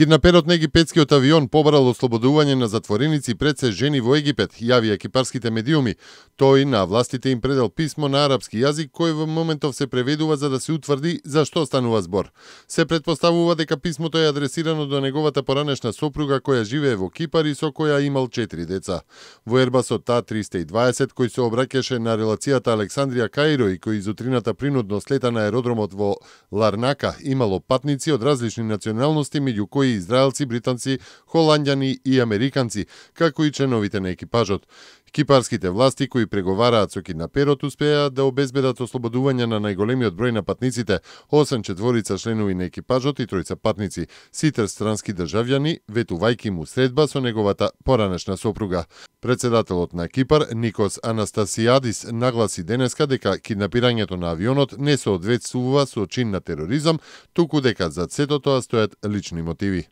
Киднаперот на египетскиот авион побарал ослободување на затвореници пред се жени во Египет, јави кипарските медиуми. Тој на властите им предал писмо на арапски јазик кој во моментов се преведува за да се утврди за што станува збор. Се претпоставува дека писмото е адресирано до неговата поранешна сопруга која живее во Кипар и со која имал 4 деца. Во Ербасот А320 кој се обраќаше на релацијата Александрија-Каиро и кој изутрината принудно слета на аеродромот во Ларнака имало патници од различни националности, меѓу кои израелци, британци, холандјани и американци, како и членовите на екипажот. Кипарските власти кои преговараат со киднаперот успеа да обезбедат ослободување на најголемиот број на патниците, 8 четворица членови на екипажот и 3 патници, сите странски државјани, ветувајќи му средба со неговата поранешна сопруга. Председателот на Кипар, Никос Анастасијадис, нагласи денеска дека киднапирањето на авионот не соодветствува со чин на тероризам, туку дека зад сето тоа стојат лични мотиви.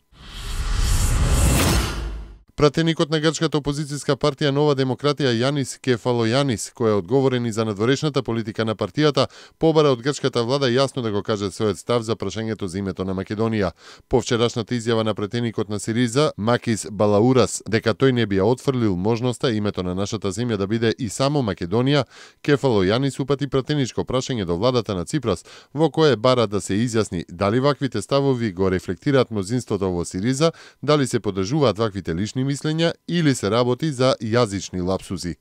Пратеникот на грчката опозицијска партија Нова демократија Јанис Кефалојанис, кој е одговорен и за надворешната политика на партијата, побара од грчката влада јасно да го каже својот став за прашањето за името на Македонија. По вчерашната изјава на пратеникот на Сириза, Макис Балаурас, дека тој не би ја отфрлил можноста името на нашата земја да биде и само Македонија, Кефалојанис упати пратеничко прашање до владата на Ципрас, во кое бара да се изјасни дали ваквите ставови го рефлектираат мнозинството во Сириза, дали се поддржуваат ваквите лични мислења или се работи за јазични лапсузи.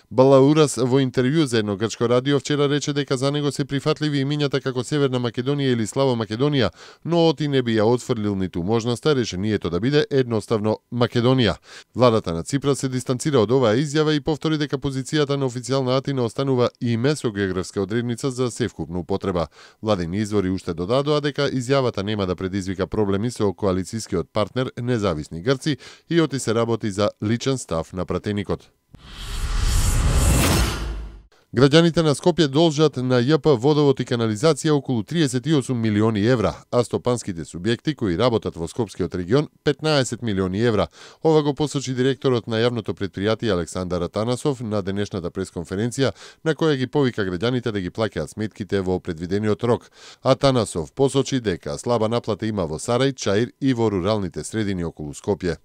Балаурас во интервју за едно грчко радио вчера рече дека за него се прифатливи имињата како Северна Македонија или Славо Македонија, но оти не би ја отфрлил ниту можноста решението да биде едноставно Македонија. Владата на Ципрас се дистанцира од оваа изјава и повтори дека позицијата на официјална Атина останува име со географска одредница за севкупна употреба. Владини извори уште додадоа дека изјавата нема да предизвика проблеми со коалицискиот партнер Независни Грци и оти се работи за личен став на пратеникот. Граѓаните на Скопје должат на ЈП Водовод и канализација околу 38 милиони евра, а стопанските субјекти кои работат во Скопскиот регион 15 милиони евра. Ова го посочи директорот на јавното претпријатие Александар Атанасов на денешната пресконференција на која ги повика граѓаните да ги плаќаат сметките во предвидениот рок. Атанасов посочи дека слаба наплата има во Сарај, Чаир и во руралните средини околу Скопје.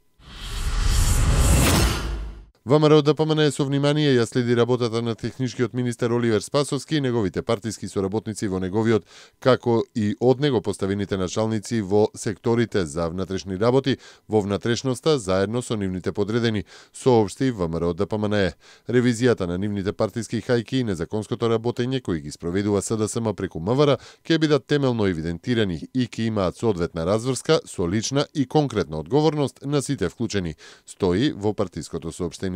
ВМРО ДПМН со внимание ја следи работата на техничкиот министер Оливер Спасовски и неговите партиски соработници во неговиот, како и од него поставените началници во секторите за внатрешни работи, во внатрешноста, заедно со нивните подредени, соопшти ВМРО ДПМН. Ревизијата на нивните партиски хајки и незаконското работење кои ги спроведува СДСМ преку МВР ќе бидат темелно евидентирани и ќе имаат соодветна разврска со лична и конкретна одговорност на сите вклучени, стои во партиското соопштение.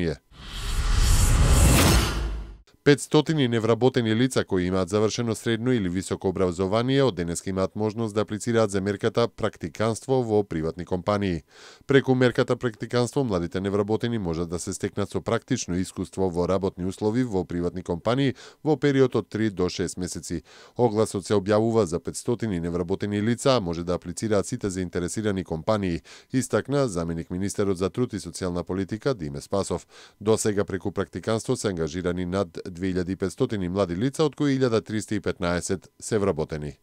500 невработени лица кои имаат завршено средно или високо образование од денеска имаат можност да аплицираат за мерката практиканство во приватни компании. Преку мерката практиканство младите невработени можат да се стекнат со практично искуство во работни услови во приватни компании во период од 3 до 6 месеци. Огласот се објавува за 500 невработени лица, може да аплицираат сите заинтересирани компании, истакна заменик министерот за труд и социјална политика Диме Спасов. До сега преку практиканство се ангажирани над 2500 млади лица, од кои 1315 се вработени.